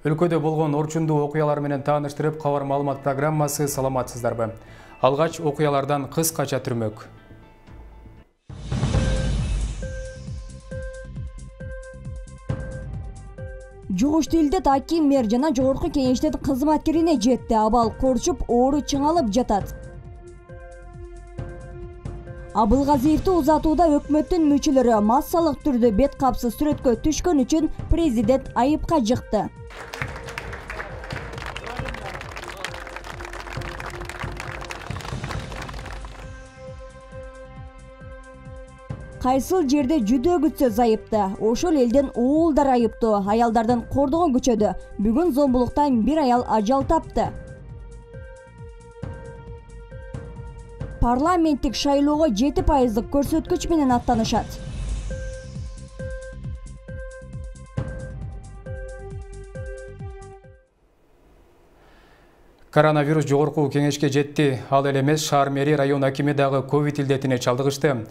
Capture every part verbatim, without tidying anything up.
Өлкөдө болгон орчундуу окуялар менен тааныштырып, кабар маалымат программасы саламатсыздарбы. Алгач окуялардан кыскача түрмөк. Жогушту илдет аким, мэр жана жогорку кеңештин кызматкерине жетти. Абал корчуп, оору чыңалып жатат. Абылгазиевди узатууда өкмөттүн мүчөлөрү массалык түрдө бет капсыз сүрөткө түшкөн үчүн президент айыпка жыкты. Кайсыл жерде жүдө күтсө зайыпты, ошол элдин уулдар айыптуу. Аялдардын кордогу күчөдү. Бүгүн зомбулуктан бир аял ажал тапты. Парламенттик шайлоого жети пайыздык көрсөткүч менен аттанышат. Коронавирус жогорку кеңешке жетти. Ал эле эмес, шаар мэри, район акими дагы ковид илдетине чалдыгышты.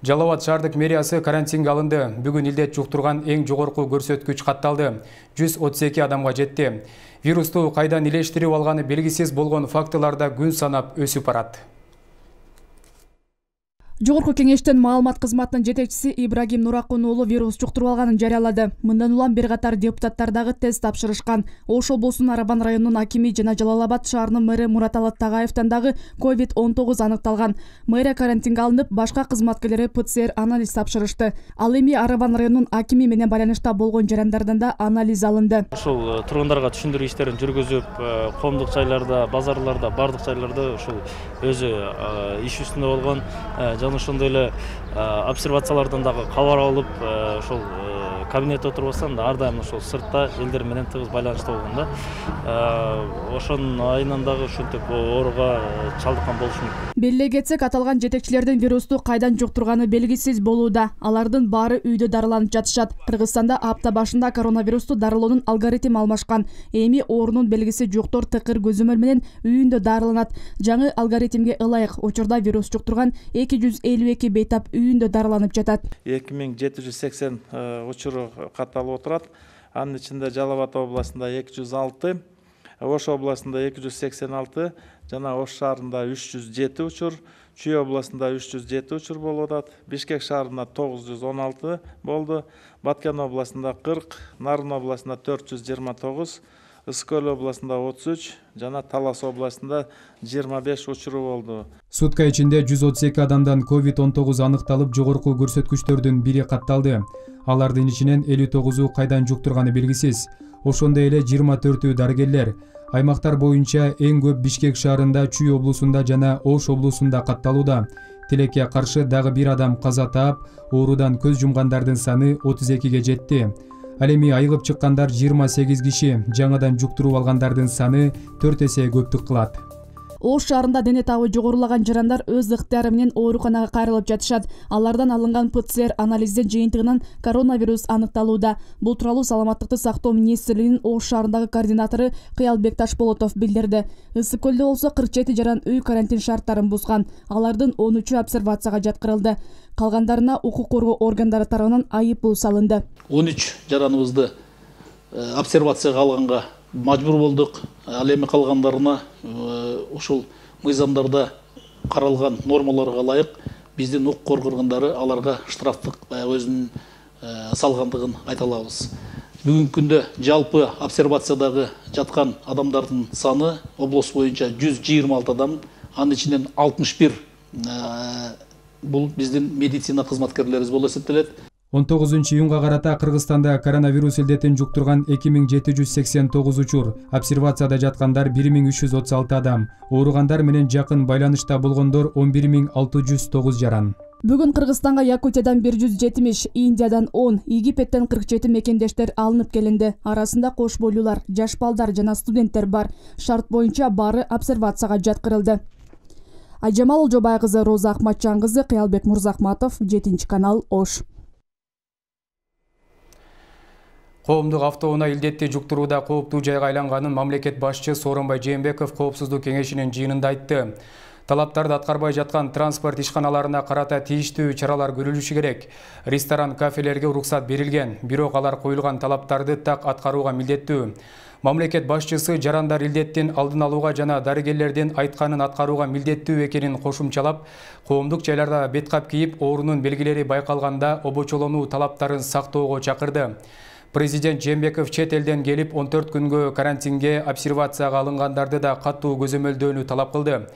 Жалал Абад шаардык мэриясы карантинге алынды. Бүгүн илдет жуктурган эң жогорку көрсөткүч катталды. жүз отуз эки адамга жетти. Вирусту кайдан илештирип алганы белгисиз болгон фактыларда күн санап өсүп барат. Жогорку кеңештин маалымат кызматынын жетекчиси Ибрагим Нуракун уулу вирус жуктуруп алганын жарыялады. Мындан улам бир катар депутаттар дагы тест тапшырышкан. Ош облусунун Арабан районунун акими жана Жалал Абад шаарынын мэри Мураталы Тагаевтан дагы ковид он тогуз аныкталган. Мэрия карантинге алынып, башка кызматкерлери ПЦР анализ тапшырышты. Ал эми Арабан районунун акими менен байланышта болгон жарандардан да анализ алынды. Ушул тургундарга түшүндүрүү иштерин жүргүзүп, коомдук жайларда, базарларда, бардык жайларда ушул өзү иш үстүндө болгон жана ошондой эле обсервациялардан дагы кабар алып, ошол кабинетте отурбастан ар дайым ошол сыртта элдер менен тыгыз байланышта болгон да. Ошонун айынан дагы ушинтип ооруга чалдыккан болушу мүмкүн. Белгилей кетсек, аталган жетекчилердин вирусту кайдан жуктурганы белгисиз болууда. Алардын баары үйдө дарыланып жатышат. Кыргызстанда апта башында коронавирусту дарылоонун алгоритми алмашкан. Эми оорунун белгиси жоктор тыкыр көзөмөл менен үйүндө дарыланат. Жаңы алгоритмге ылайык учурда вирус жуктурган эки жүз элүү эки бейтап үйүндө дарыланып жатат. эки миң жети жүз сексен учуру катталып отурат. Анын ичинде Жалал Абад областында эки жүз алты, Ош областында эки жүз сексен алты, жана Ош шаарында үч жүз жети учур, Чүй областында үч жүз жети учур болуп атат. Бишкек шаарында тогуз жүз он алты болду, Баткен областында кырк, Нарын областында төрт жүз жыйырма тогуз, Ысык Көл областында отуз үч жана Талас областында жыйырма беш учуру болду. Сутка ичинде жүз отуз эки адамдан ковид он тогуз аныкталып, жогорку көрсөткүчтөрдүн бири катталды. Алардын ичинен элүү тогузу кайдан жуктурганы белгисиз. Ошондой эле жыйырма төртү дарыгерлер. Аймактар боюнча эң көп Бишкек шаарында, Чүй облусунда жана Ош облусунда катталууда. Тилекке каршы дагы бир адам каза таап, оорудан көз жумгандардын саны отуз экиге жетти. Ал эми айыгып чыккандар жыйырма сегиз киши, жаңадан жуктуруп алгандардын саны төрт эсе көптүк кылат. Ош шаарында дене табы жогорулаган жарандар өз ыктыяры менен ооруканага кайрылып жатышат. Алардан алынган ПЦР анализдин жыйынтыгынан коронавирус аныкталууда. Бул тууралуу Саламаттыкты сактоо министрлигинин Ош шаарындагы координатору Кыялбек Ташболотов билдирди. Ысык Көлдө болсо кырк жети жаран үй карантин шарттарын бузган. Алардын он үчү обсервацияга жаткырылды. Калгандарына укук коргоо органдары тарабынан айыппул салынды. он үч жараныбызды обсервацияга алганга мажбур болдук. Ал эми калгандарына ушул мыйзамдарда каралган нормаларга ылайык биздин укук коргоо органдары аларга штрафтык өзүнүн салгандыгын айта алабыз. Бүгүнкү күндө жалпы обсервациядагы жаткан адамдардын саны облус боюнча жүз жыйырма алты адам, анын ичинен алтымыш бир бул биздин медицина кызматкерлерибиз болуп эсептелет. он тогузунчу июнга карата Кыргызстанда коронавирус илдетин жуктурган эки миң жети жүз сексен тогуз учур, обсервацияда жаткандар бир миң үч жүз отуз алты адам, ооругандар менен жакын байланышта болгондор он бир миң алты жүз тогуз жаран. Бүгүн Кыргызстанга Якутиядан бир жүз жетимиш, Индиядан он, Египеттен кырк жети мекендештер алынып келинди. Арасында кош бойлуулар, жаш балдар жана студенттер бар. Шарт боюнча баары обсервацияга жаткырылды. Айжамал Олжобай кызы, Роза Акматжан кызы, Кыялбек Мурзахматов, жетинчи канал, Ош. Коомдук автоунаа илдетти жуктурууда кооптуу жайга айланганын мамлекет башчысы Сооронбай Жээнбеков Коопсуздук кеңешинин жыйынында айтты. Талаптарды аткарбай жаткан транспорт ишканаларына карата тийиштүү чаралар көрүлүшү керек. Ресторан, кафелерге уруксат берилген, бирок алар коюлган талаптарды так аткарууга милдеттүү. Мамлекет башчысы жарандар илдеттин алдын алууга жана дарыгерлердин айтканын аткарууга милдеттүү экенин кошумчалап, коомдук жайларда беткап кийип, оорунун белгилери байкалганда обочолонуу талаптарын сактоого чакырды. Президент Жээнбеков чет элден келип он төрт күнгө карантинге, обсервацияга алынгандарды да катуу көзөмөлдөөнү талап кылды.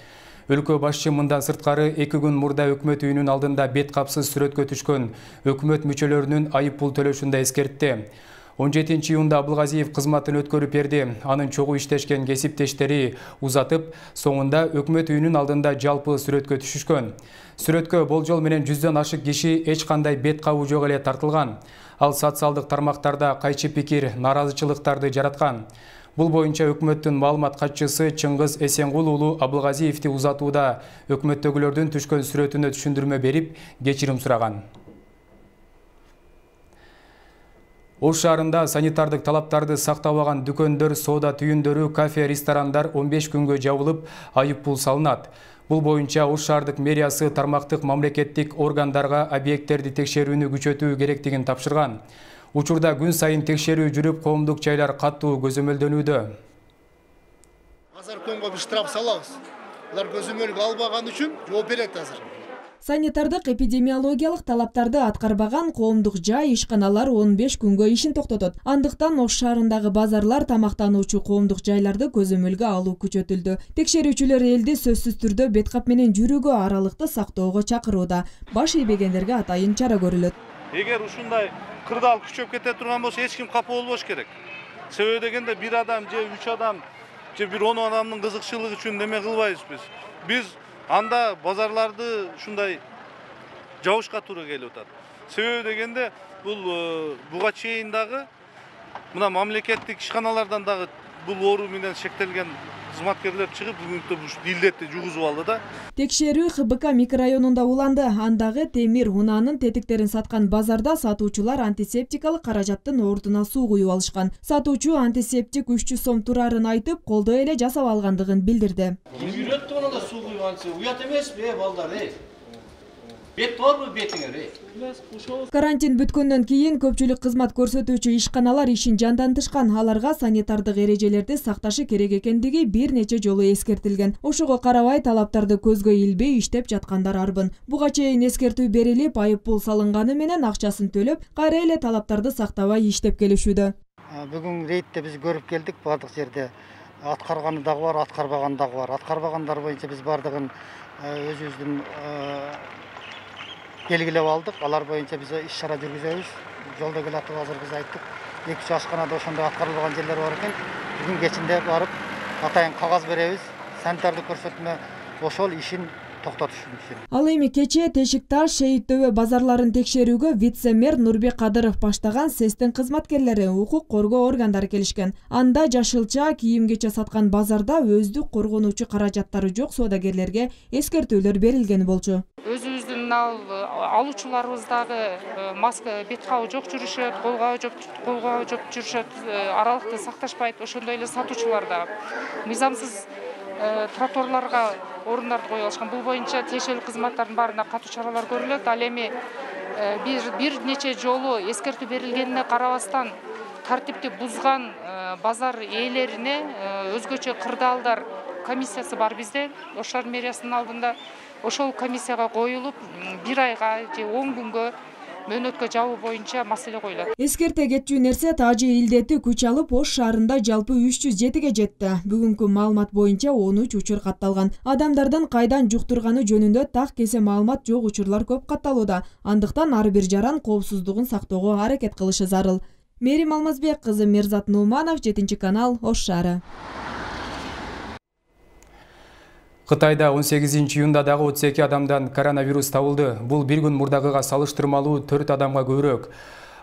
Өлкө башчы мындан сырткары эки күн мурда өкмөт үйүнүн алдында бет капсыз сүрөткө түшкөн өкмөт мүчөлөрүнүн айып пул төлөшүн да эскертти. он жетинчи июнда Абылгазиев кызматын өткөрүп берди. Анын чогуу иштешкен кесиптештери узатып, соңунда өкмөт үйүнүн алдында жалпы сүрөткө түшүшкөн. Сүрөткө болжол менен жүздөн ашык киши эч кандай бет кабуу жок эле тартылган. Ал социалдык тармактарда кайчы пикир, наразычылыктарды жараткан. Бул боюнча өкмөттүн маалымат катчысы Чыңгыз Эсенгул уулу Абылгазиевди узатууда өкмөттөгүлөрдүн түшкөн сүрөтүнө түшүндүрмө берип, кечирим сураган. Ош шаарында санитардык талаптарды сактабаган дүкөндөр, соода түйүндөрү, кафе, ресторандар он беш күнгө жабылып, айып пул салынат. Бул боюнча Ош шаардык мэриясы тармактык мамлекеттик органдарга объекттерди текшерүүнү күчөтүү керектигин тапшырган. Учурда күн сайын текшерүү жүрүп, коомдук жайлар катуу көзөмөлдөнүүдө. Азыр көңгө бир штраф салабыз. Алар көзөмөлгө албаган үчүн жооп берет азыр. Санитардык эпидемиологиялык талаптарды аткарбаган коомдук жай, ишканалар он беш күнгө ишин токтотот. Андыктан Ош шаарындагы базарлар, тамактануучу коомдук жайларды көзөмөлгө алуу күчөтүлдү. Текшерүүчүлөр элди сөзсүз түрдө беткап менен жүрүүгө аралыкты сактоого чакырууда. Баш ийбегендерге атайын чара көрүлөт. Эгер ушундай кырдаал күчөп кете турган болсо, эч ким капа болбош керек. Себеби дегенде бир адам же үч адам же бир он адамдын кызыкчылыгы үчүн неме кылбайбыз биз. Биз анда базарларды ушундай жабышка туура келип атат. Себеби дегенде бул буга чейин дагы мына мамлекеттик ишканалардан дагы бул оору менен шектелген кызматкерлер чыгып, бүгүнкү илдетти жугузуп алды да. Текшерүү Х Б К микрорайонунда уланды. Андагы темир унаанын тетиктерин саткан базарда сатуучулар антисептикалык каражаттын ордуна суу куюп алышкан. Сатуучу антисептик үч жүз сом турарын айтып, колдо эле жасап алгандыгын билдирди. Үйрөттү мына да суу куюп анча. Уят эмеспи, э балдар, э? Бет барбы бетиңер, э? Карантин бүткөндөн кийин көпчүлүк кызмат көрсөтүүчү ишканалар ишин жандантышкан. Аларга санитардык эрежелерди сакташы керек экендиги бир нече жолу эскертилген. Ошого карабай талаптарды көзгө илбей иштеп жаткандар арбын. Буга чейин эскертүү берилип, айып пул салынганы менен акчасын төлөп, кайра эле талаптарды сактабай иштеп келишүүдө. Бүгүн рейдте биз көрүп келдик, бардык жерде аткарганы дагы бар, аткарбаганы дагы бар. Аткарбагандар боюнча биз бардыгын өзүбүздүн белгилеп алдык. Алар боюнча биз иш чара жүргүзөбүз. Жолдо келатып азыр биз айттык, эки үч ашканада ошондой аткарылбаган жерлер бар экен. Бүгүн кечинде барып атайын кагаз беребиз. Санитардык көрсөтмө ошол ишин токтотуш үчүн. Ал эми кечээ Тешикташ, Шейит Төбө базарларын текшерүүгө вице-мэр Нурбек Кадыров баштаган СЭСтин кызматкерлери, укук коргоо органдары келишкен. Анда жашылча, кийим-кече саткан базарда өздүк коргонуучу каражаттары жок соодагерлерге эскертүүлөр берилген болчу. Өзүбүздүн алуучуларыбыз дагы маска, бет кабуу жок жүрүшөт, кол кабуу жок, кол кабуу жок жүрүшөт, аралыкты сакташпайт. Ошондой эле сатуучулар да мыйзамсыз тротуарларга орундарды коюп алышкан. Бул боюнча тиешелүү кызматтардын баарына катуу чаралар көрүлөт. Ал эми бир бир нече жолу эскертүү берилгенине карабастан тартипти бузган базар ээлерине өзгөчө кырдаалдар комиссиясы бар бизде, Ош шаар мэриясынын алдында. Ошол комиссияга коюлуп, бир айга же он күнгө мөөнөткө жабуу боюнча маселе коюлат. Эскерте кетчү нерсе тажы илдети күч алып Ош шаарында жалпы үч жүз жетиге жетти. Бүгүнкү маалымат боюнча он үч учур катталган. Адамдардын кайдан жуктурганы жөнүндө так кесе маалымат жок учурлар көп катталууда. Андыктан ар бир жаран коопсуздугун сактоого аракет кылышы зарыл. Мерим Алмазбек кызы, Мерзат Нууманов, жетинчи канал, Ош шаары. Кытайда он сегизинчи июнда дагы отуз эки адамдан коронавирус табылды. Бул бир күн мурдагыга салыштырмалуу төрт адамга көбүрөөк.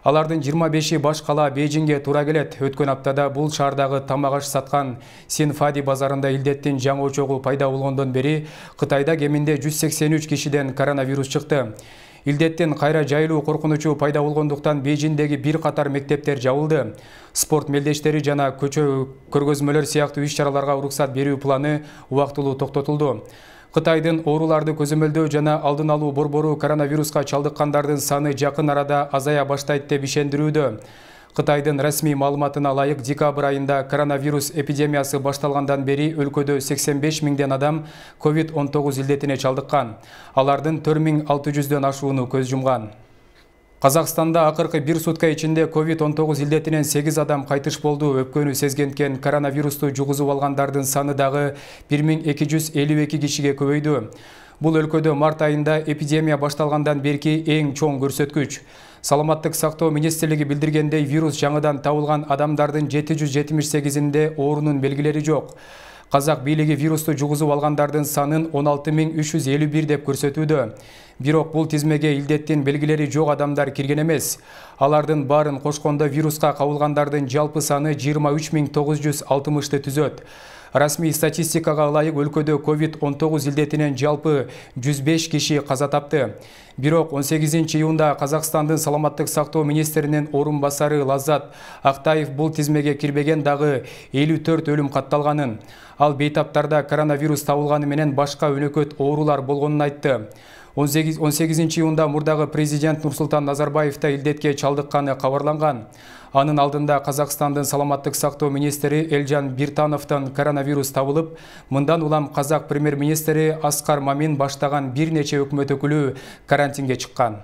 Алардын жыйырма беши баш кала Бейжиңге туура келет. Өткөн аптада бул шаардагы тамак аш саткан Синфади базарында илдеттин жаңы очогу пайда болгондон бери Кытайда кеминде жүз сексен үч кишиден коронавирус чыкты. Илдеттин кайра жайылуу коркунучу пайда болгондуктан Бейжиңдеги бир катар мектептер жабылды. Спорт мелдештери жана көчө көргөзмөлөр сыяктуу иш-чараларга уруксат берүү планы убактылуу токтотулду. Кытайдын ооруларды көзөмөлдөө жана алдын алуу борбору коронавируска чалдыккандардын саны жакын арада азая баштайт деп ишендирүүдө. Кытайдын расмий маалыматына ылайык декабрь айында коронавирус эпидемиясы башталгандан бери өлкөдө сексен беш миңден адам ковид он тогуз илдетине чалдыккан. Алардын төрт миң алты жүздөн ашууну көз жумган. Казакстанда акыркы бир сутка ичинде ковид он тогуз илдетинен сегиз адам кайтыш болду. Өпкөнү сезгенткен коронавирусту жугузуп алгандардын саны дагы бир миң эки жүз элүү эки кишиге көбөйдү. Бул өлкөдө март айында эпидемия башталгандан берки эң чоң көрсөткүч. Саламаттык сактоо министрлиги билдиргендей, вирус жаңыдан табылган адамдардын жети жүз жетимиш сегизинде оорунун белгилери жок. Казак бийлиги вирусту жугузуп алгандардын санын он алты миң үч жүз элүү бир деп көрсөтүүдө. Бирок бул тизмеге илдеттин белгилери жок адамдар кирген эмес. Алардын баарын кошкондо вируска кабылгандардын жалпы саны жыйырма үч миң тогуз жүз алтымышты түзөт. Расмий статистикага ылайык өлкөдө ковид он тогуз илдетинен жалпы жүз беш киши каза тапты. Бирок он сегизинчи июнда Казакстандын саламаттык сактоо министринин орун басары Лаззат Актаев бул тизмеге кирбеген дагы элүү төрт өлүм катталганын. Ал бейтаптарда коронавирус табылганы менен башка өнөкөт оорулар болгонун айтты. он сегизинчи июнда мурдагы президент Нурсултан Назарбаев да илдетке чалдыкканы кабарланган. Анын алдында Казакстандын саламаттык сактоо министри Элжан Биртановдон коронавирус табылып, мындан улам Казак премьер-министри Аскар Мамин баштаган бир нече өкмөт өкүлү карантинге чыккан.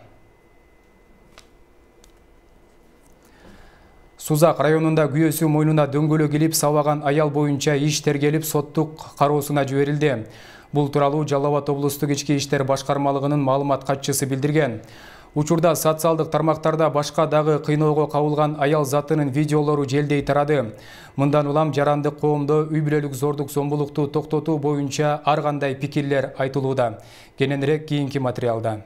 Сузак районунда күйөөсү мойнуна дөңгөлөк илип сабаган аял боюнча иш тергелип соттук кароосуна жиберилди. Бул тууралуу Жалал Абад облустук ички иштер башкармалыгынын маалымат катчысы билдирген. Учурда социалдык тармактарда башка дагы кыйноого кабылган аял затынын видеолору желдей тарады. Мындан улам жарандык коомдо үй бүлөлүк зордук зомбулукту токтотуу боюнча ар кандай пикирлер айтылууда. Кененирээк кийинки материалда.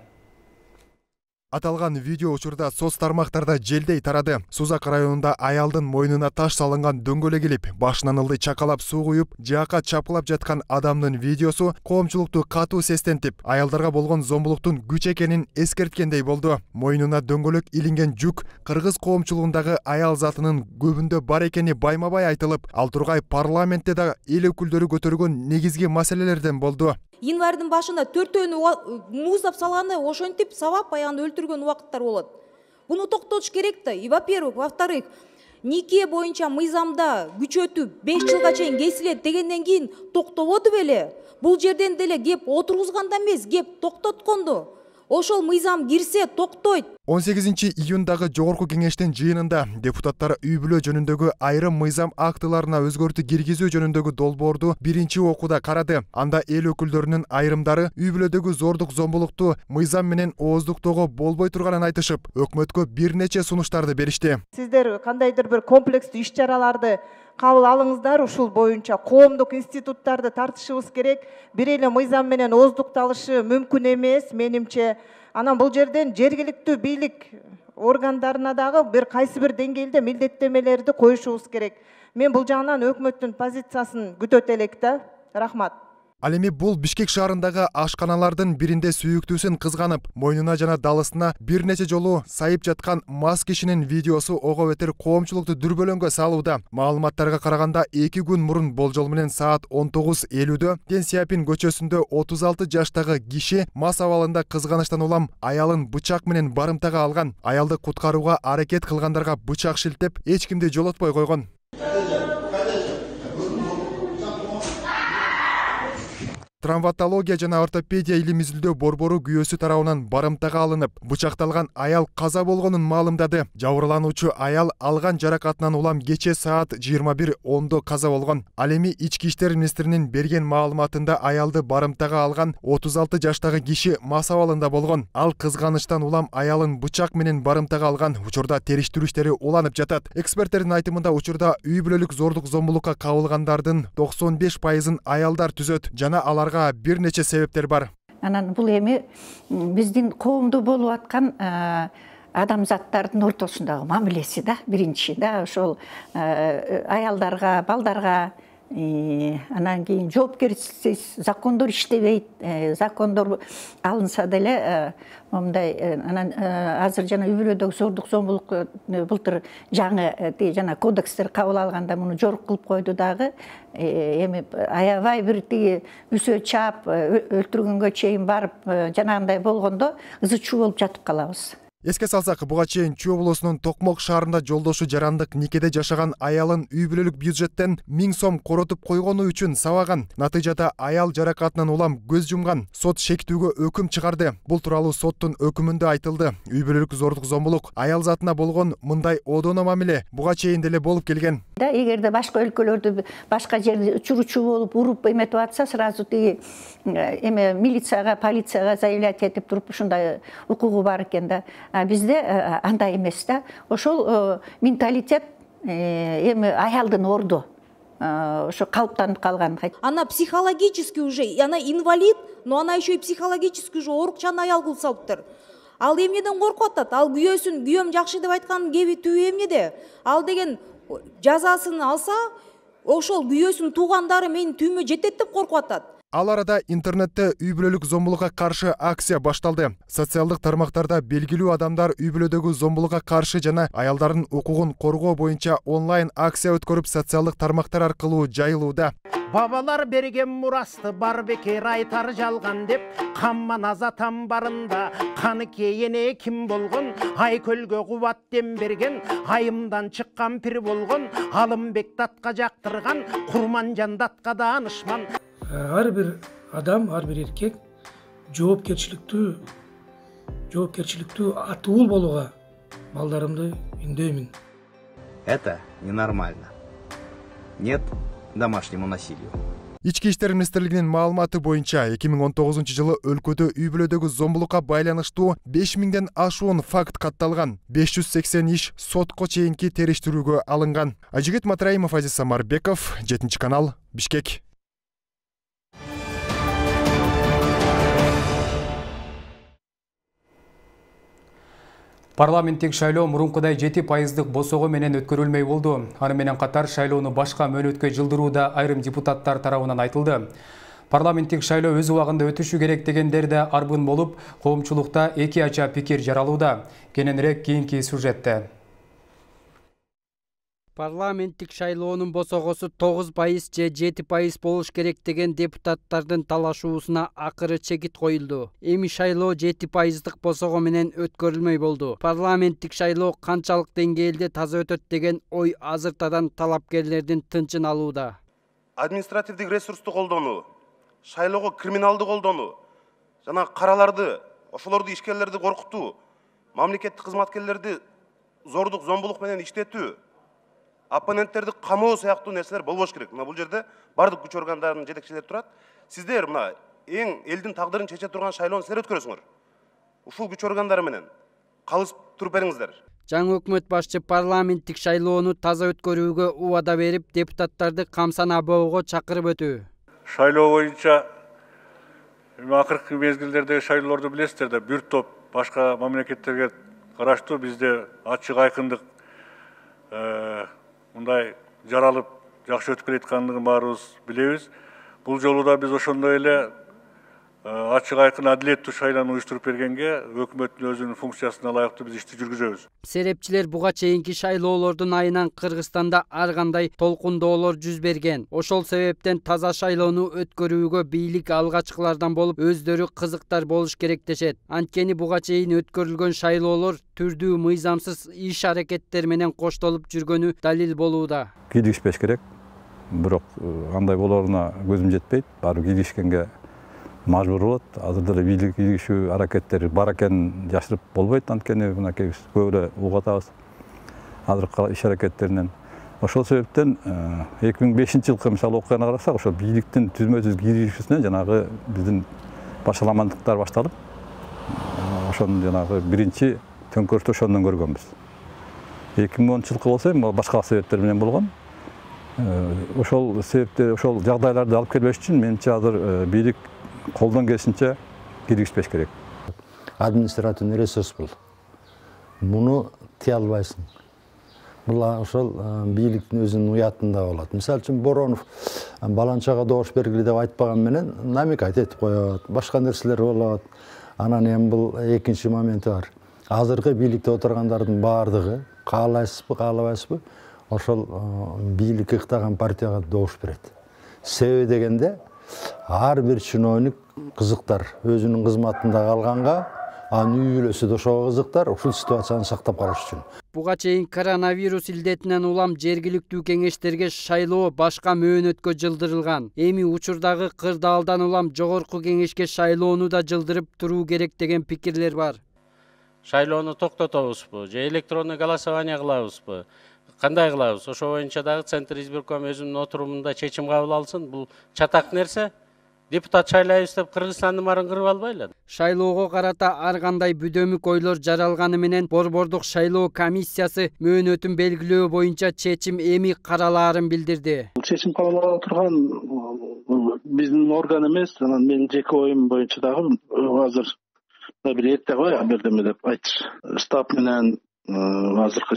Аталган видео учурда соц тармактарда желдей тарады. Сузак районунда аялдын мойнуна таш салынган дөңгөлөк илип, башынан ылдый чакалап суу куюп, жаакка чапкылап жаткан адамдын видеосу коомчулукту катуу сестентип, аялдарга болгон зомбулуктун күч экенин эскерткендей болду. Мойнуна дөңгөлөк илинген жүк кыргыз коомчулугундагы аял затынын көбүндө бар экени байма-бай айтылып, ал тургай парламентте да эл өкүлдөрү көтөргөн негизги маселелерден болду. Январьдын башында төртөөнү муздап салганы ошентип сабап аягында өлтүргөн убакыттар болот. Буну токтотуш керек да. И во-первых, во-вторых, нике боюнча мыйзамда күчөтүп беш жылга чейин кесилет дегенден кийин токтободу беле? Бул жерден деле кеп отургузганда эмес, кеп токтотконду. Ошол мыйзам кирсе токтойт. он сегизинчи июндагы жогорку кеңештин жыйынында депутаттар үй бүлө жөнүндөгү айрым мыйзам актыларына өзгөртүү киргизүү жөнүндөгү долбоорду биринчи окууда карады. Анда эл өкүлдөрүнүн айрымдары үй бүлөдөгү зордук зомбулукту мыйзам менен ооздуктоого болбой турганын айтышып, өкмөткө бир нече сунуштарды беришти. Сиздер кандайдыр бир комплекстүү иш-чараларды кабыл алыңыздар, ушул боюнча коомдук институттарды тартышыбыз керек. Бир эле мыйзам менен ооздукталышы мүмкүн эмес, менимче. Анан бул жерден жергиликтүү бийлик органдарына дагы бир кайсы бир деңгээлде милдеттемелерди коюшубуз керек. Мен бул жагынан өкмөттүн позициясын күтөт элек да. Рахмат. Ал эми бул Бишкек шаарындагы ашканалардын биринде сүйүктүүсүн кызганып, мойнуна жана далысына бир нече жолу сайып жаткан мас кишинин видеосу ого бетер коомчулукту дүрбөлөңгө салууда. Маалыматтарга караганда эки күн мурун болжол менен саат он тогуз элүүдө Ден Сяопин көчөсүндө отуз алты жаштагы киши мас абалында кызганычтан улам аялын бычак менен барымтага алган. Аялды куткарууга аракет кылгандарга бычак шилтеп, эч кимди жолотпой койгон. Травматология жана ортопедия илим изилдөө борбору күйөөсү тарабынан барымтага алынып, бычакталган аял каза болгонун маалымдады. Жабырлануучу аял алган жаракатынан улам кече саат жыйырма бир ондо каза болгон. Ал эми ички иштер министринин берген маалыматында аялды барымтага алган отуз алты жаштагы киши мас абалында болгон. Ал кызганычтан улам аялын бычак менен барымтага алган. Учурда териштирүү иштери уланып жатат. Эксперттердин айтымында учурда үй бүлөлүк зордук зомбулукка кабылгандардын токсон беш пайызын аялдар түзөт жана аларга бир нече себептер бар. Анан бул эми биздин коомдо болуп аткан адамзаттардын ортосундагы мамилеси да, биринчи да, ошол аялдарга, балдарга анан кийин жоопкерчиликсиз закондор иштебейт, закондор алынса деле мындай анан азыр жана үй бүлөдөгү зордук зомбулук былтыр жаңы жана кодекстер кабыл алганда муну жорук кылып койду дагы. Эми аябай бир тиги үсө чаап өлтүргөнгө чейин барып жанагындай болгондо ызы чуу болуп жатып калабыз. Эске салсак, буга чейин Чүй облусунун Токмок шаарында жолдошу жарандык никеде жашаган аялын үй бүлөлүк бюджеттен миң сом коротуп койгону үчүн сабаган. Натыйжада аял жаракатынан улам көз жумган. Сот шектүүгө өкүм чыгарды. Бул тууралуу соттун өкүмүндө айтылды. Үй бүлөлүк зордук зомбулук аял затына болгон мындай одоно мамиле буга чейин деле болуп келген. Да, эгерде башка өлкөлөрдө башка жерде учуручу болуп уруп эметип атса, сразу тиги эме милицияга, полицияга заявлять этип туруп ушундай укугу бар экен да. Бизде андай эмес да. Ошол менталитет эми аялдын орду ошо калыптанып калган. Она психологически уже, она инвалид, но она еще и психологически уже оорукчан аял кылып салыптыр. Ал эмнеден коркуп атат? Ал күйөөсүн, күйөөм жакшы деп айткан кеби түбү эмнеде? Ал деген жазасын алса, ошол күйөөсүн туугандары менин түйүмө жетет деп коркуп атат. Ал арада интернетте үй бүлөлүк зомбулукка каршы акция башталды. Социалдык тармактарда белгилүү адамдар үй бүлөдөгү зомбулукка каршы жана аялдардын укугун коргоо боюнча онлайн акция өткөрүп, социалдык тармактар аркылуу жайылууда. Бабалар берген мурасты бар бекер айтар жалган деп, камман азатам барында каны кейене ким болгон, Айкөлгө кубат дем берген, айымдан чыккан пир болгон, Алымбек датка жактырган, Курманжан датка даанышман. Ар бир адам, ар бир эркек жоопкерчиликтүү жоопкерчиликтүү атуул болууга балдарымды үндөймүн. Это ненормально. Нет домашнему насилию. Ички иштер министрлигинин маалыматы боюнча эки миң он тогузунчу жылы өлкөдө үй бүлөдөгү зомбулукка байланыштуу беш миңден ашуун факт катталган. беш жүз сексен иш сотко чейинки териштирүүгө алынган. Ажигит Матраимов, Азиз Самарбеков, жетинчи канал, Бишкек. Парламенттик шайлоо мурункудай жети пайыздык босого менен өткөрүлмөй болду. Аны менен катар шайлоону башка мөөнөткө жылдырууда айрым депутаттар тарабынан айтылды. Парламенттик шайлоо өз убагында өтүшү керек дегендер да арбын болуп, коомчулукта эки ача пикир жаралууда. Кененирээк кийинки сюжетте. Парламенттик шайлоонун босогосу тогуз пайыз же жети пайыз болуш керек деген депутаттардын талашуусуна акыры чекит коюлду. Эми шайлоо жети пайыздык босого менен өткөрүлмөй болду. Парламенттик шайлоо канчалык деңгээлде таза өтөт деген ой азыртадан талапкерлердин тынчын алууда. Административдик ресурсту колдонуу, шайлоого криминалды колдонуу, жана караларды, ошолорду ишкерлерди коркутуу, мамлекеттик кызматкерлерди зордук зомбулук менен иштетүү, оппоненттерди камоо сыяктуу нерселер болбош керек. Мына бул жерде бардык күч органдарынын жетекчилери турат. Сиздер мына эң элдин тагдырын чече турган шайлоону силер өткөрөсүңөр. Ушул күч органдары менен калысып туруп бериңиздер. Жаңы өкмөт башчы парламенттик шайлоону таза өткөрүүгө убада берип, депутаттарды камсана боого чакырып өтүү. Шайлоо боюнча акыркы мезгилдердеги шайлоолорду билесиздер да, бир топ башка мамлекеттерге караштуу бизде ачык айкындык мындай жаралып жакшы өтүп келаткандыгын баарыбыз билебиз. Бул жолу да биз ошондой эле ачык айкын адилеттүү шайлоону уюштуруп бергенге өкмөттүн өзүнүн функциясына ылайыктуу биз ишти жүргүзөбүз. Серепчилер буга чейинки шайлоолордун айынан Кыргызстанда ар кандай толкундоолор жүз берген. Ошол себептен таза шайлоону өткөрүүгө бийлик алгачкылардан болуп, өздөрү кызыктар болуш керек дешет. Анткени буга чейин өткөрүлгөн шайлоолор түрдүү мыйзамсыз иш аракеттер менен коштолуп жүргөнү далил болууда. Кийлигишпеш керек. Бирок андай болоруна көзүм жетпейт. Баары кийлигишкенге мажбур болот. Азыр деле бийлик кийлигишүү аракеттери бар экенин жашырып болбойт. Анткени мынакей көп эле угатабыз азыркы иш аракеттеринен. Ошол себептен эки миң бешинчи жылкы мисалы окуяны карасак, ошол бийликтин түзмө-түз кийлигишүүсүнөн жанагы биздин башаламандыктар башталып, ошонун жанагы биринчи төңкөрүштү ошондон көргөнбүз. эки миң онунчу жылкы болсо эми башка себептер менен болгон. Ошол себептер, ошол жагдайларды алып келбеш үчүн менимче азыр бийлик колдон келишинче кийлигишпеш керек. Административный ресурс бул. Муну тие албайсың. Бул ошол бийликтин өзүнүн уятында болот. Мисалы үчүн Боронов баланчага добуш бергиле деп айтпаган менен намекать этип коет, башка нерселер болот. Анан эми бул экинчи моменти бар. Азыркы бийликте отургандардын баардыгы каалайсызбы, каалабайсызбы, ошол бийликке ыктаган партияга добуш берет. Себеби дегенде ар бир чиновник кызыктар өзүнүн кызматында калганга, анын үй бүлөсү да ошого кызыктар, ушул ситуацияны сактап калыш үчүн. Буга чейин коронавирус илдетинен улам жергиликтүү кеңештерге шайлоо башка мөөнөткө жылдырылган. Эми учурдагы кырдаалдан улам жогорку кеңешке шайлоону да жылдырып туруу керек деген пикирлер бар. Шайлоону токтотобузбу же электронный голосование кылабызбы? Кандай кылабыз? Ошо боюнча дагы Центр избирком өзүнүн отурумунда чечим кабыл алсын. Бул чатак нерсе. Депутат шайлайбыз деп Кыргызстандын баарын кырып албайлы. Шайлоого карата ар кандай бүдөмүк ойлор жаралганы менен Борбордук шайлоо комиссиясы мөөнөтүн белгилөө боюнча чечим эми каралаарын билдирди. Чечим кабыл ала турган биздин орган эмес, анан менин жеке оюм боюнча дагы азыр бир эрте го бирдеме деп айтыш. Штаб менен азыркы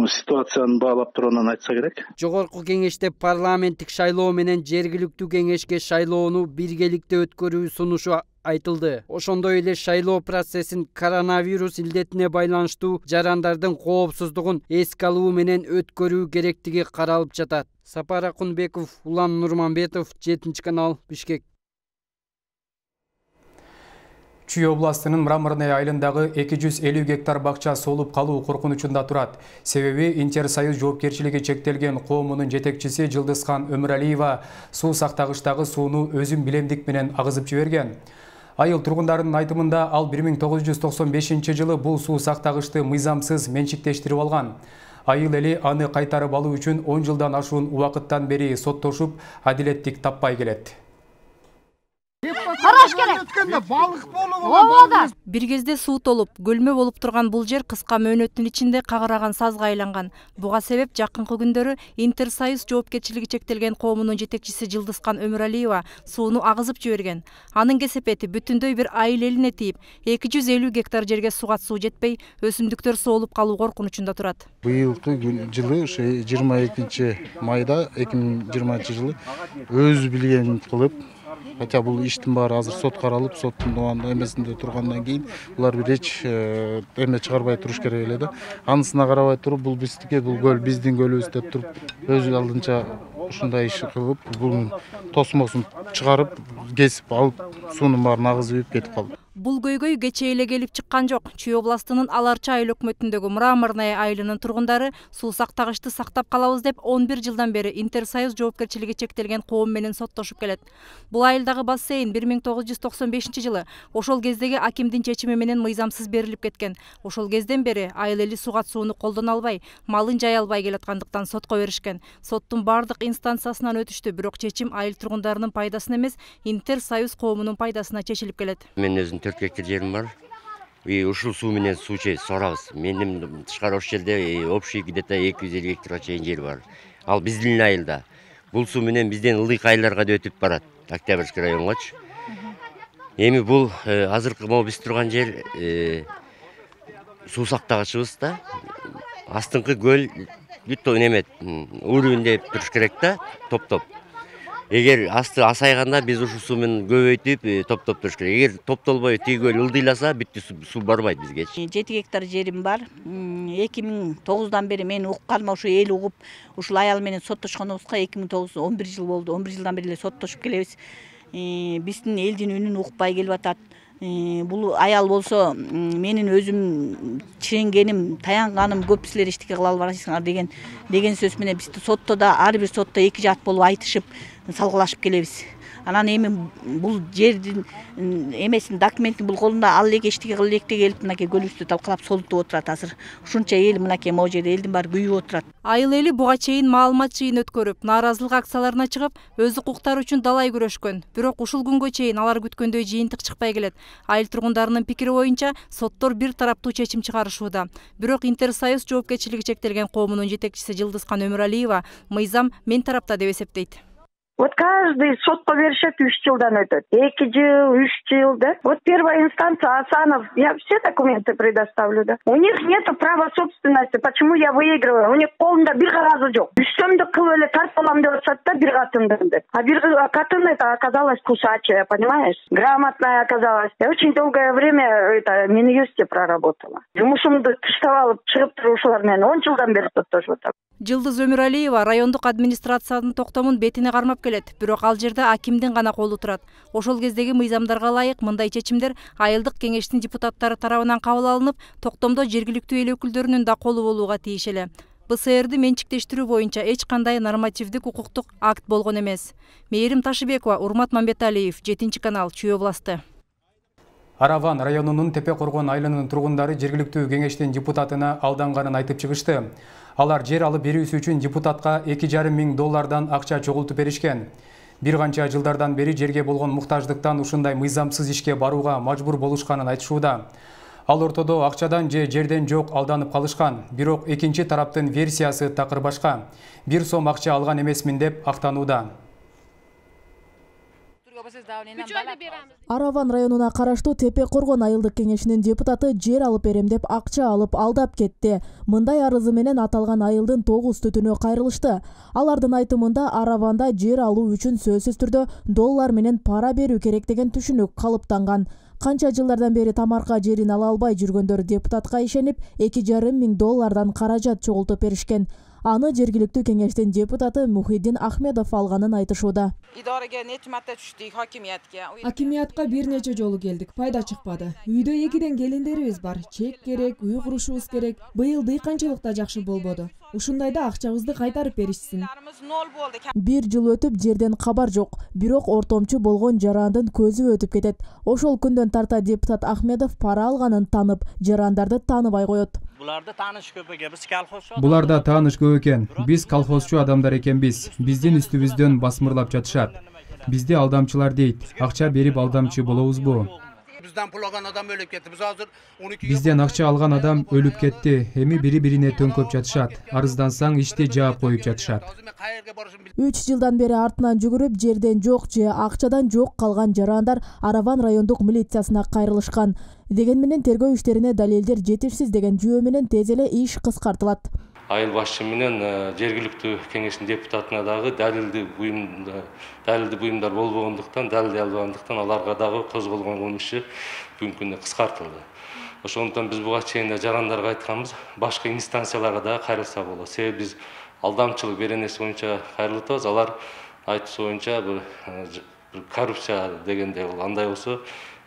ситуацияны баалап тургандан айтса керек. Жогорку кеңеште парламенттик шайлоо менен жергиликтүү кеңешке шайлоону биргеликте өткөрүү сунушу айтылды. Ошондой эле шайлоо процессин коронавирус илдетине байланыштуу жарандардын коопсуздугун эске алуу менен өткөрүү керектиги каралып жатат. Сапар Акунбеков, Улан Нурманбетов, жетинчи канал, Бишкек. Чүй областынын Мраморный айылындагы эки жүз элүү гектар бакча солуп калуу коркунучунда турат. Себеби Интерсоюз жоопкерчилиги чектелген коомунун жетекчиси Жылдызхан Өмүралиева суу сактагычтагы сууну өзүн билемдик менен агызып жиберген. Айыл тургундарынын айтымында ал бир миң тогуз жүз токсон бешинчи жылы бул суу сактагычты мыйзамсыз менчиктештирип алган. Айыл эли аны кайтарып алуу үчүн он жылдан ашуун убакыттан бери соттошуп, адилеттик таппай келет. Караш керек. Балык болуп. Бир кезде суу толуп, көлмө болуп турган бул жер кыска мөөнөттүн ичинде кагыраган сазга айланган. Буга себеп жакынкы күндөрү Интерсоюз жоопкерчилиги чектелген коомунун жетекчиси Жылдызхан Өмүралиева сууну агызып жиберген. Анын кесепети бүтүндөй бир айыл элине тийип, эки жүз элүү гектар жерге суга суу жетпей, өсүмдүктөр соолуп калуу коркунучунда турат. Быйылкы жылы жыйырма экинчи майда эки миң жыйырманчы жылы өз билгенин кылып, хотя бул иштин баары азыр сот каралып, соттун эмесинде тургандан кийин булар бир эч эме чыгарбай туруш керек эле да. Анысына карабай туруп, бул биздики, бул көл биздин көлүбүз деп туруп, өз алдынча ушундай иш кылып, бунун тосмосун чыгарып, кесип алып, суунун баарын агызып кетип калды. Бул көйгөй кечээ эле келип чыккан жок. Чүй областынын Аларча айыл өкмөтүндөгү Мраморный айылынын тургундары суу сактагычты сактап калабыз деп он бир жылдан бери Интерсоюз жоопкерчилиги чектелген коом менен соттошуп келет. Бул айылдагы бассейн бир миң тогуз жүз токсон бешинчи жылы ошол кездеги акимдин чечими менен мыйзамсыз берилип кеткен. Ошол кезден бери айыл эли сугат сууну колдоно албай, малын жая албай келаткандыктан сотко беришкен. Соттун бардык инстанциясынан өтүштү, бирок чечим айыл тургундарынын пайдасына эмес, Интерсоюз коомунун пайдасына чечилип келет. Мен өзүм төрт гектар жерим бар. И ушул суу менен суу сорабыз. Менин тышкары ош жерде общий где-то эки жүз элүү гектарга чейин жер бар. Ал биздин айылда. Бул суу менен бизден ылдый айылдарга да өтүп барат. Октябрьский районгочу. Эми бул азыркы могу биз турган жер суу сактагычыбыз да. Астыңкы көл бүт неме уровеньде туруш керек да, топ-топ. Эгер асты асайганда биз ушул суу менен көбөйтүп, топтоп туруш керек. Эгер топтолбой тиги көл ылдыйласа, бүттү суу барбайт бизге. жети гектар жерим бар. эки миң тогуздан бери мен укканыма ушу эл угуп, ушул аял менен соттошконубузга эки миң тогуз он бир жыл болду. он бир жылдан бери эле соттошуп келебиз. Биздин элдин үнүн укпай келип атат. Бул аял болсо менин өзүм чиренгеним, таянганым көп силер эчтеке кыла албайсыңар деген деген сөз менен бизди сотто да ар бир сотто эки жаат болуп айтышып, салгылашып келебиз. Анан эми бул жердин эмесин документин бул колунда ал элек эчтеке кыла элек деп келип мынакей көлүбүздү талкалап солутуп отурат азыр. Ушунча эл мынакей могу жерде элдин баары күйүп отурат. Айыл эли буга чейин маалымат жыйын өткөрүп, нааразылык акцияларына чыгып, өз укуктары үчүн далай күрөшкөн. Бирок ушул күнгө чейин алар күткөндөй жыйынтык чыкпай келет. Айыл тургундарынын пикири боюнча соттор бир тараптуу чечим чыгарышууда. Бирок Интерсоюз жоопкерчилиги чектелген коомунун жетекчиси Жылдызхан Өмүралиева мыйзам мен тарапта деп эсептейт. Вот каждый сотко беришет, үч жылдан өтөт. эки жыл, үч жыл, да. Вот первая инстанция, Асанов, я все документы предоставлю, да. У них нету права собственности. Почему я выигрываю? У них колунда бир кагазы жок. Үчтөмдү кылып эле тартып алам деп атышат да, бир катынды деп. А бир катын это оказалась кусачая, понимаешь? Грамотная оказалась. Я очень долгое время это Минюсте проработала. Жумушумду тыштап алып чыгып турушулар менен он жылдан бери токтошуп атам. Жылдыз Өмүралиева райондук администрациянын токтомун бетине кармап келет, бирок ал жерде акимдин гана колу турат. Ошол кездеги мыйзамдарга ылайык мындай чечимдер айылдык кеңештин депутаттары тарабынан кабыл алынып, токтомдо жергиликтүү эл өкүлдөрүнүн да колу болууга тийиш эле. Б С Р'ди менчиктештирүү боюнча эч кандай нормативдик укуктук акт болгон эмес. Мээрим Ташыбекова, Урмат Мамбеталиев, жетинчи канал, Чүй областы. Араван районунун Тепе Коргон айылынын тургундары жергиликтүү кеңештин депутатына алданганын айтып чыгышты. Алар жер алып берүүсү үчүн депутатка эки жарым миң доллардан акча чогултуп беришкен. Бир канча жылдардан бери жерге болгон муктаждыктан ушундай мыйзамсыз ишке барууга мажбур болушканын айтышууда. Ал ортодо акчадан же жерден жок алданып калышкан, бирок экинчи тараптын версиясы такыр башка. Бир сом акча алган эмесмин деп актанууда. Араван районуна караштуу Тепе Коргон айылдык кеңешинин депутаты жер алып берем деп акча алып алдап кетти. Мындай арызы менен аталган айылдын тогуз түтүнү кайрылышты. Алардын айтымында Араванда жер алуу үчүн сөзсүз түрдө доллар менен пара берүү керек деген түшүнүк калыптанган. Канча жылдардан бери тамарка жерин ала албай жүргөндөр депутатка ишенип, эки жарым миң доллардан каражат чогултуп беришкен. Аны жергиликтүү кеңештин депутаты Мухиддин Ахмедов алганын айтышууда. Идорага нече марта түштүк, хакимиятка. Акимиятка бир нече жолу келдик, пайда чыкпады. Үйдө экиден келиндерибиз бар, чек керек, үй курушубуз керек. Быйыл дыйканчылык да жакшы болбоду. Ушундайда акчабызды кайтарып беришсин. Бир жыл өтүп жерден кабар жок, бирок ортомчу болгон жарандын көзү өтүп кетет. Ошол күндөн тарта депутат Ахмедов пара алганын танып, жарандарды тааныбай коет. Буларда тааныш көп экен, биз колхозчу. Буларда тааныш көп экен. Биз колхозчу адамдар экенбиз. Биздин үстүбүздөн басмырлап жатышат. Бизди алдамчылар дейт. Акча берип алдамчы болобузбу? Бизден пул алган адам өлүп кетти. Биз азыр он эки Бизден акча алган адам өлүп кетти. Эми бири-бирине төңкөп жатышат. Арыздансаң ишти жаап коюп жатышат. үч жылдан бери артынан жүгүрүп, жерден жок же акчадан жок калган жарандар Араван райондук милициясына кайрылышкан. Деген менен тергөө иштерине далилдер жетишсиз деген жүйө менен тез эле иш кыскартылат. Айыл башчы менен жергиликтүү кеңештин депутатына дагы далилдүү буюмдар, далилдүү буюмдар болбогондуктан, далилдей албагандыктан аларга дагы козголгон кылмыш иши бүгүнкү күндө кыскартылды. Ошондуктан биз буга чейин жарандарга айтканбыз, башка инстанцияларга дагы кайрылса болот. Себеби биз алдамчылык беренеси боюнча кайрылып атабыз. Алар айтышы боюнча бир коррупция дегенде бул андай болсо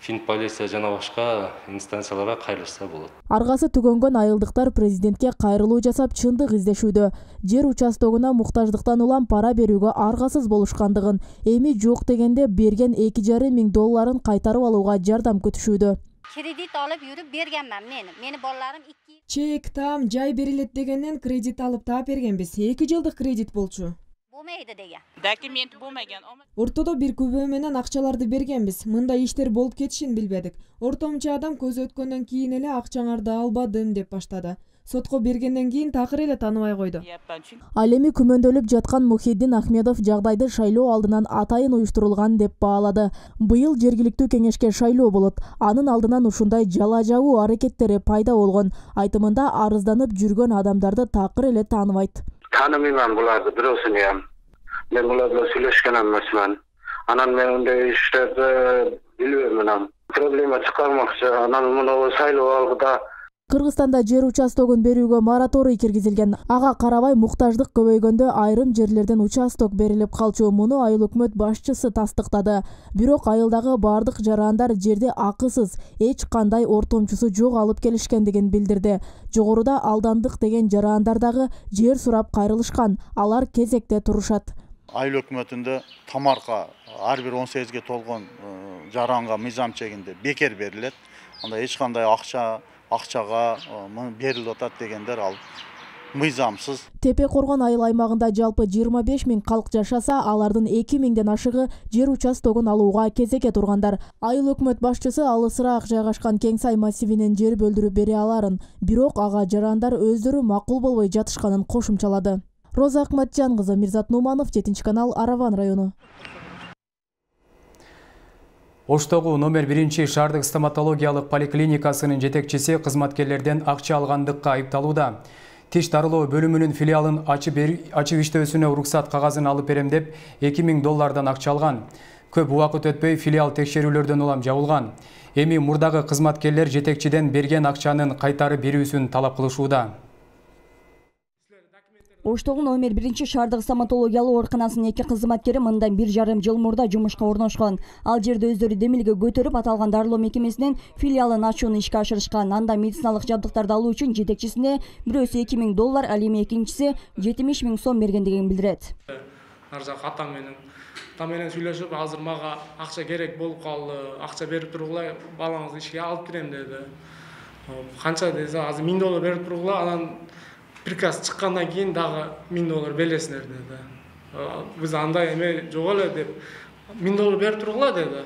Финполиция жана башка инстанцияларга кайрылса болот. Аргасы түгөнгөн айылдыктар президентке кайрылуу жасап чындык издешүүдө. Жер участогуна муктаждыктан улам пара берүүгө аргасыз болушкандыгын, эми жок дегенде берген эки жарым миң долларын кайтарып алууга жардам күтүшүүдө. Кредит алып жүрүп бергенмин мен. Мени балдарым эки чек, там, жай берилет дегенден кредит алып таап бергенбиз. эки жылдык кредит болчу. Болмайды деген. Документ болмаган. Ортодо бир күбө менен акчаларды бергенбиз. Мындай иштер болуп кетишин билбедик. Ортомчу адам көз өткөндөн кийин эле акчаңарды албадым деп баштады. Сотко бергенден кийин такыр эле тааныбай койду. Ал эми күмөндөлүп жаткан Мухиддин Ахмедов жагдайды шайлоо алдынан атайын уюштурулган деп баалады. Быйыл жергиликтүү кеңешке шайлоо болот. Анын алдынан ушундай жала жабуу аракеттери пайда болгон. Айтымында арызданып жүргөн адамдарды такыр эле тааныбайт. Таанымайм буларды, бирөөсүн. Мен буларга сүйлөшкөн эмесмин. Анан мен мындай иштерди билбейм. Проблема чыгармакчы. Анан муну шайлоо алдыда Кыргызстанда жер участогун берүүгө мораторий киргизилген. Ага карабай муктаждык көбөйгөндө айрым жерлерден участок берилип калчу. Муну айыл өкмөт башчысы тастыктады. Бирок айылдагы бардык жарандар жерди акысыз, эч кандай ортомчусу жок алып келишкендигин билдирди. Жогоруда алдандык деген жарандар дагы жер сурап кайрылышкан. Алар кезекте турушат. Айыл өкмөтүндө тамарка ар бир он сегизге толгон жаранга мыйзам чегинде бекер берилет. Анда эч кандай акча акчага берилип атат дегендер ал мыйзамсыз. Тепе Коргон айыл аймагында жалпы жыйырма беш миң калк жашаса, алардын эки миңден ашыгы жер участогун алууга кезекке тургандар. Айыл өкмөт башчысы алысыраак жайгашкан Кеңсай массивинен жер бөлдүрүп бере аларын, бирок ага жарандар өздөрү макул болбой жатышканын кошумчалады. Роза Акматжан кызы, Мирзат Нуманов, жетинчи канал, Араван району. Оштогу номер биринчи шаардык стоматологиялык поликлиникасынын жетекчиси кызматкерлерден акча алгандыкка айыпталууда. Тиш дарылоо бөлүмүнүн филиалын ачып иштөөсүнө уруксат кагазын алып берем деп эки миң доллардан акча алган. Көп убакыт өтпөй филиал текшерүүлөрдөн улам жабылган. Эми мурдагы кызматкерлер жетекчиден берген акчанын кайтарып берүүсүн талап кылышууда. Оштогу номер биринчи шаардык стоматологиялык ооруканасынын эки кызматкери мындан бир жарым жыл мурда жумушка орношкон. Ал жерде өздөрү демилге көтөрүп, аталган дарылоо мекемесинин филиалын ачууну ишке ашырышкан. Анда медициналык жабдыктарды алуу үчүн жетекчисине бирөөсү эки миң доллар, ал эми экинчиси жетимиш миң сом бергендигин билдирет. Ар жак атам менен атам менен сүйлөшүп, азыр мага акча керек болуп калды, акча берип тургула, балаңызды ишке алып кирем деди. Канча десе, азыр миң доллар берип тургула, анан приказ чыккандан кийин дагы миң доллар бересиңер деди. Биз андай эме жок эле деп миң доллар берип тургула деди.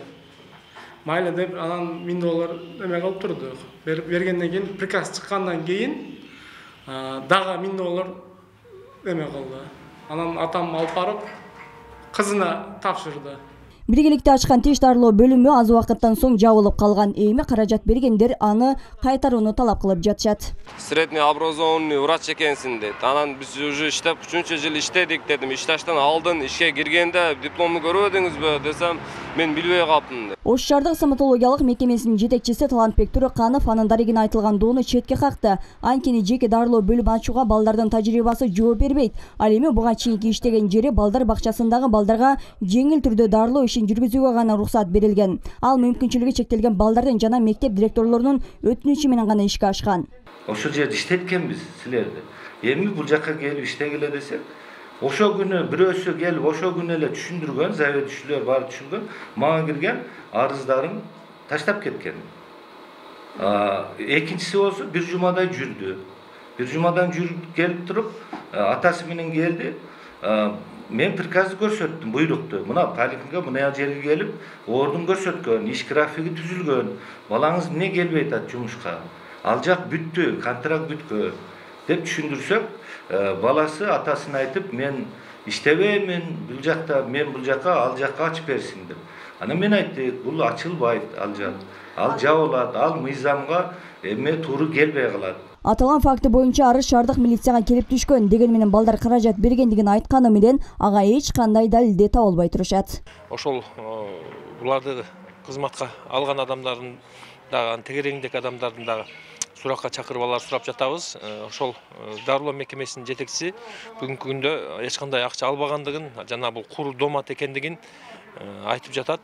Майла деп анан миң доллар эме кылып турдук. Бергенден кийин приказ чыккандан кийин дагы миң доллар эме кылды. Анан атам алып барып кызына тапшырды. Биргеликте ачкан тиш дарылоо бөлүмү аз убакыттан соң жабылып калган. Эми каражат бергендер аны кайтарууну талап кылып жатышат. Средний образованный врач экенсиң дейт. Анан биз уже иштеп үчүнчү жыл иштедик дедим. Ишташтан алдын ишке киргенде дипломду көрбөдүңүзбү десем, мен билбей калптым. Ош шаардык стоматологиялык мекемесинин жетекчиси Талантбек Төрөканов анын дарегине айтылган доону четке какты. Анткени жеке дарылоо бөлүм ачууга балдардын тажрыйбасы жооп бербейт. Ал эми буга чейинки иштеген жери балдар бакчасындагы балдарга жеңил түрдө дарылоо жүргүзүүгө гана уруксат берилген. Ал мүмкүнчүлүгү чектелген балдардын жана мектеп директорлорунун өтүнүчү менен гана ишке ашкан. Ошол жерде иштеткенбиз силерди. Эми бул жакка келип иштегиле десек, ошол күнү бирөөсү келип ошол күнү эле түшүндүргөн, заведующийлер баары түшүнгөн, мага кирген арыздарын таштап кеткен. Экинчиси болсо бир жумадай жүрдү. Бир жумадан жүрүп келип туруп, атасы менен келди. Мен приказды көрсөттүм, буйрукту. Мына поликлиника мына жерге келип, ордун көрсөткөн, иш графиги түзүлгөн. Балаңыз эмне келбей атат жумушка? Ал жак бүттү, контракт бүткөн деп түшүндүрсөк, баласы атасына айтып, мен иштебеймин, бул жакта, мен бул жакка, ал жакка ачып берсин деп. Анан мен айттым, бул ачылбайт, ал жак. Ал жабылат, ал мыйзамга эме туура келбей калат. Аталган факты боюнча арыз шаардык милицияга келип түшкөн. Деген менен балдар каражат бергендигин айтканы менен ага эч кандай далилде табылбай турушат. Ошол буларды кызматка алган адамдардын дагы тегереңдеги адамдардын дагы суракка чакырып алар сурап жатабыз. Ошол дарылоо мекемесинин жетекчиси бүгүнкү күндө эч кандай акча албагандыгын жана бул кур домат экендигин айтып жатат.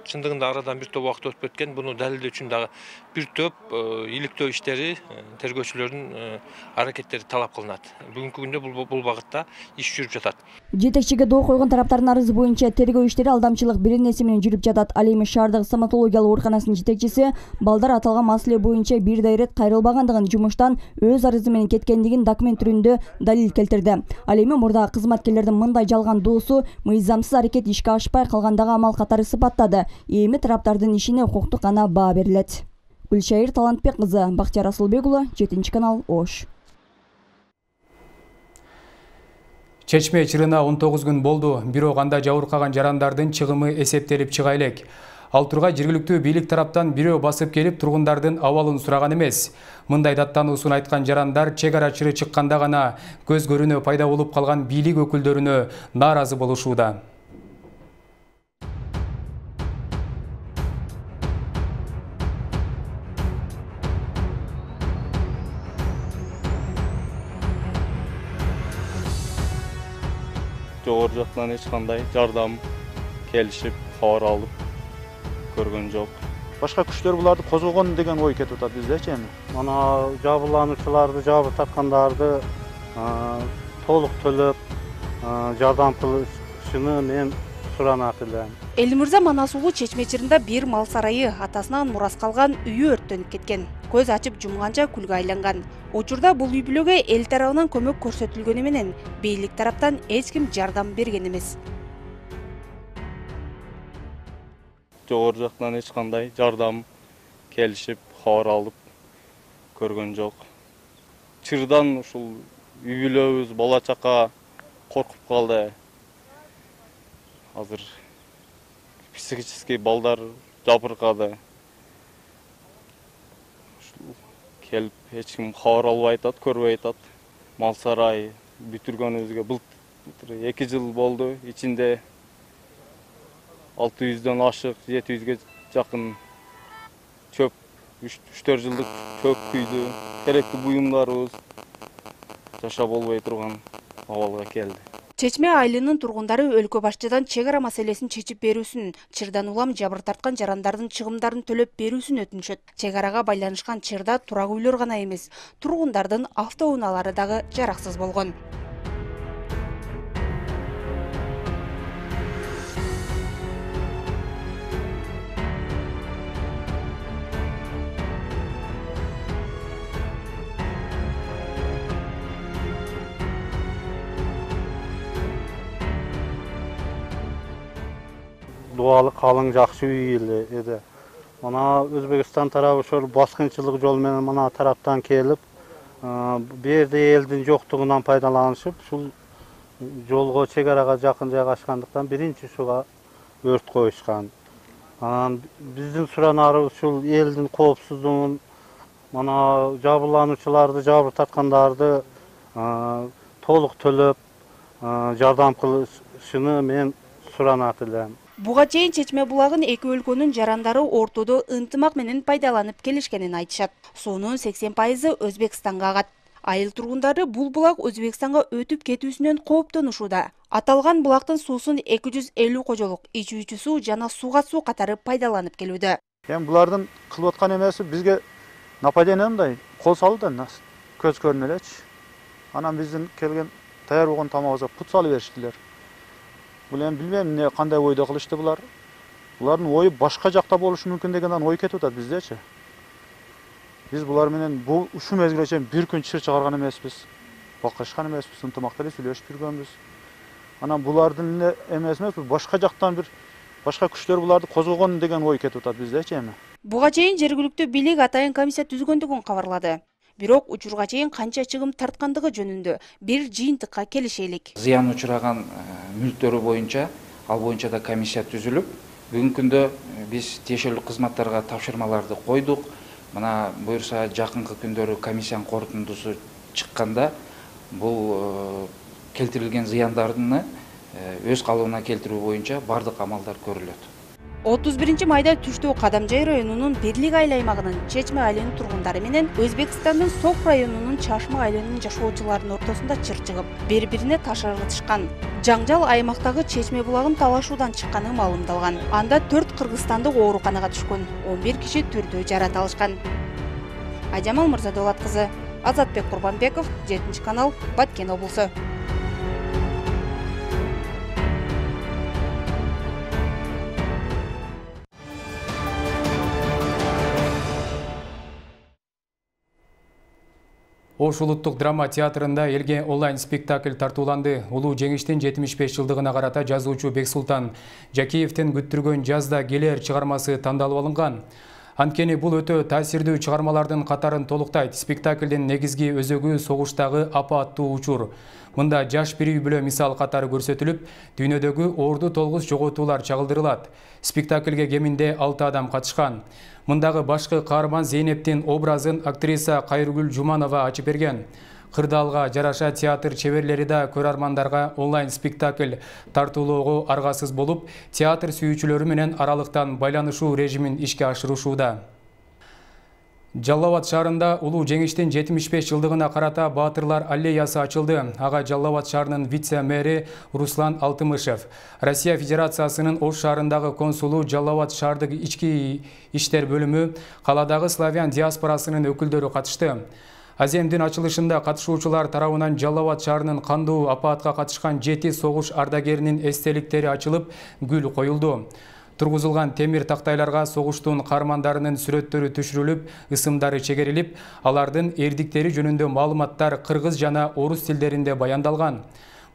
Чындыгында арадан бир топ убакыт өтүп кеткен. Буну далилдөө үчүн дагы бир топ иликтөө иштери, тергөөчүлөрдүн аракеттери талап кылынат. Бүгүнкү күндө бул багытта иш жүрүп жатат. Жетекчиге доо койгон тараптардын арызы боюнча тергөө иштери алдамчылык беренеси менен жүрүп жатат. Ал эми шаардык стоматологиялык ооруканасынын жетекчиси балдар аталган маселе боюнча бир да ирет кайрылбагандыгын, жумуштан өз арызы менен кеткендигин документ түрүндө далил келтирди. Ал эми мурдагы кызматкерлердин мындай жалган доосу мыйзамсыз аракет ишке ашпай калгандагы амал катары сыпаттады. Эми тараптардын ишине укуктук гана баа берилет. Гүлшайыр Талантбек кызы, Бактияр Асылбек уулу, жетинчи канал, Ош. Чечме чырына он тогуз күн болду. Бирок анда жабыркаган жарандардын чыгымы эсептелип чыга элек. Ал тургай жергиликтүү бийлик тараптан бирөө басып келип тургундардын абалын сураган эмес. Мындай даттануусун айткан жарандар чек ара чыры чыкканда гана көз көрүнө пайда болуп калган бийлик өкүлдөрүнө нааразы болушууда. Жогору жактан эч кандай жардам келишип, кабар алып көргөн жок. Башка күчтөр буларды козгогон деген ой кетип атат биздечи эми. Мана жабырлануучуларды, жабы тарткандарды толук төлөп жардам кылышыны мен суранат элем. Элмирза Манас уулу Чечме чырында бир мал сарайы, атасынан мурас калган үйү өрттөнүп кеткен. Көз ачып жумганча күлгө айланган. Учурда бул үй бүлөгө эл тарабынан көмөк көрсөтүлгөнү менен бийлик тараптан эч ким жардам берген эмес. Жогору жактан эч кандай жардам келишип, кабар алып көргөн жок. Чырдан ушул үй бүлөбүз, бала чака коркуп калды. Азыр психический балдар жабыркады. Келип эч ким кабар албай атат, көрбөй атат. Мал сарай бүтүргөнүбүзгө былтыр эки жыл болду. Ичинде алты жүздөн ашык, жети жүзгө жакын чөп, үч төрт жылдык чөп күйдү. Керектүү буюмдарыбыз жашап болбой турган абалга келди. Чечме айылынын тургундары өлкө башчыдан чек ара маселесин чечип берүүсүн, чырдан улам жабыр тарткан жарандардын чыгымдарын төлөп берүүсүн өтүнүшөт. Чек арага байланышкан чырда турак үйлөр гана эмес, тургундардын автоунаалары дагы жараксыз болгон. Дуалы калың жакшы үй эле. Мына Өзбекстан тарабы ошол баскынчылык жол менен мына тараптан келип, бу жерде элдин жоктугунан пайдаланышып, ушул жолго чек арага жакын жайгашкандыктан биринчи ушуга өрт коюшкан. Анан биздин суранарыбыз ушул элдин коопсуздугун, мына жабырлануучуларды, жабыр тарткандарды толук төлөп жардам кылышыны мен суранат элем. Буга чейин Чечме булагын эки өлкөнүн жарандары ортодо ынтымак менен пайдаланып келишкенин айтышат. Суунун сексен пайызы Өзбекстанга агат. Айыл тургундары бул булак Өзбекстанга өтүп кетүүсүнөн кооптонушууда. Аталган булактын суусун эки жүз элүү кожолук ичүүчү суу жана сууга суу катары пайдаланып келүүдө. Эми булардын кылып аткан эмеси бизге нападение мындай кол салуу да көз көрүнө элечи. Анан биздин келген даяр болгон тамагыбызга пут салып бериштилер. Бул эми билбейм эмне кандай ойдо кылышты булар. Булардын ою башка жакта болушу мүмкүн дегенден ой кетип атат биздечи. Биз булар менен бул ушул мезгилге чейин бир күн чыр чыгарган эмеспиз. Бакышкан эмеспиз, ынтымакта эле сүйлөшүп жүргөнбүз. Анан булардын эле эмеси эмес, башка жактан бир башка күчтөр буларды козгогон деген ой кетип атат биздечи эми. Буга чейин жергиликтүү бийлик атайын комиссия түзгөндүгүн кабарлады. Бирок учурга чейин канча чыгым тарткандыгы жөнүндө бир жыйынтыкка келишелик. Зыян учураган мүлктөрү боюнча, ал боюнча да комиссия түзүлүп, бүгүнкү күндө биз тиешелүү кызматтарга тапшырмаларды койдук. Мына буюрса жакынкы күндөрү комиссиянын корутундусу чыкканда бул келтирилген зыяндарды өз калыбына келтирүү боюнча бардык амалдар көрүлөт. отуз биринчи майда түштө Кадамжай районунун Бирлик айыл аймагынын Чечме айылынын тургундары менен Өзбекстандын Сок районунун Чашма айылынын жашоочуларынын ортосунда чыр чыгып, бири-бирине таш ыргытышкан. Жаңжал аймактагы Чечме булагын талашуудан чыкканы маалымдалган. Анда төрт кыргызстандык ооруканага түшкөн, он бир киши түрдүү жарат алышкан. Айжамал Мырзадолат кызы, Азатбек Курбанбеков, жетинчи канал, Баткен облусу. Ош улуттук драма театрында элге онлайн спектакль тартууланды. Улуу жеңиштин жетимиш беш жылдыгына карата жазуучу Бексултан Жакиевдин күттүргөн жазда келер чыгармасы тандалып алынган. Анткени бул өтө таасирдүү чыгармалардын катарын толуктайт. Спектаклдин негизги өзөгү согуштагы апа аттуу учур. Мында жаш бир үй бүлө мисал катары көрсөтүлүп, дүйнөдөгү орду толгус жоготуулар чагылдырылат. Спектаклге кеминде алты адам катышкан. Мындагы башкы каарман Зейнептин образын актриса Кайргүл Жуманова ачып берген. Кырдаалга жараша театр чеберлери да көрөрмандарга онлайн спектакль тартуулоого аргасыз болуп, театр сүйүүчүлөрү менен аралыктан байланышуу режимин ишке ашырышууда. Жалал Абад шаарында улуу жеңиштин жетимиш беш жылдыгына карата Баатырлар аллеясы ачылды. Ага Жалал Абад шаарынын вице-мэри Руслан Алтымышев, Россия Федерациясынын Ош шаарындагы консулу, Жалал Абад шаардык ички иштер бөлүмү, каладагы славян диаспорасынын өкүлдөрү катышты. Аземдин ачылышында катышуучулар тарабынан Жалал Абад шаарынын кандуу апаатка катышкан жети согуш ардагеринин эстеликтери ачылып, гүл коюлду. Тургузулган темир тактайларга согуштун каармандарынын сүрөттөрү түшүрүлүп, ысымдары чегерилип, алардын эрдиктери жөнүндө маалыматтар кыргыз жана орус тилдеринде баяндалган.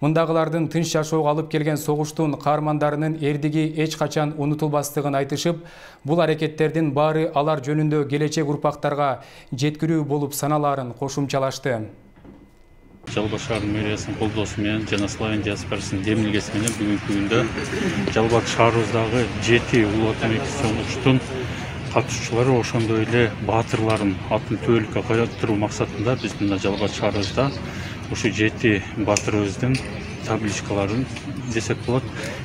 Мындагылардын тынч жашоого алып келген согуштун каармандарынын эрдиги эч качан унутулбастыгын айтышып, бул аракеттердин баары алар жөнүндө келечек урпактарга жеткирүү болуп саналаарын кошумчалашты. Жалал шаар мэриясынын колдоосу менен жана Славян диаспорасынын демилгеси менен бүгүнкү күндө Жалал Абад шаарыбыздагы жети улуу ата мектеп соңгучтун катышуучулары ошондой эле баатырларын атын түбөлүккө кайтаруу максатында биз мына Жалал Абад шаарыбызда ушу жети баатырыбыздын табличкаларын десек болот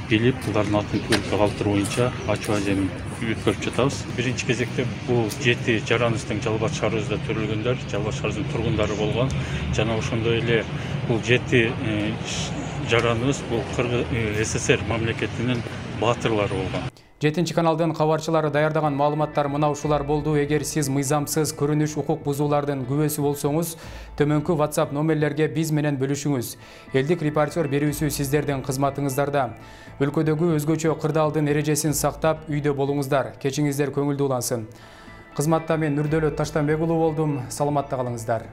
билип, булардын атын түбөлүккө калтыруу боюнча ачуу азем өткөрүп жатабыз. Биринчи кезекте бул жети жараныбыздын Жалал Абад шаарыбызда төрөлгөндөр, Жалал Абад шаарыбыздын тургундары болгон жана ошондой эле бул жети жараныбыз бул СССР мамлекетинин баатырлары болгон. жетинчи каналдын кабарчылары даярдаган маалыматтар мына ушулар болду. Эгер сиз мыйзамсыз көрүнүш укук бузуулардын күбөсү болсоңуз, төмөнкү WhatsApp номерлерге биз менен бөлүшүңүз. Элдик репортер берүүсү сиздердин кызматыңыздарда. Өлкөдөгү өзгөчө кырдаалдын эрежесин сактап, үйдө болуңуздар. Кечиңиздер көңүлдүү улансын. Кызматта мен Нурдөлөт Таштанбек уулу болдум. Саламатта калыңыздар.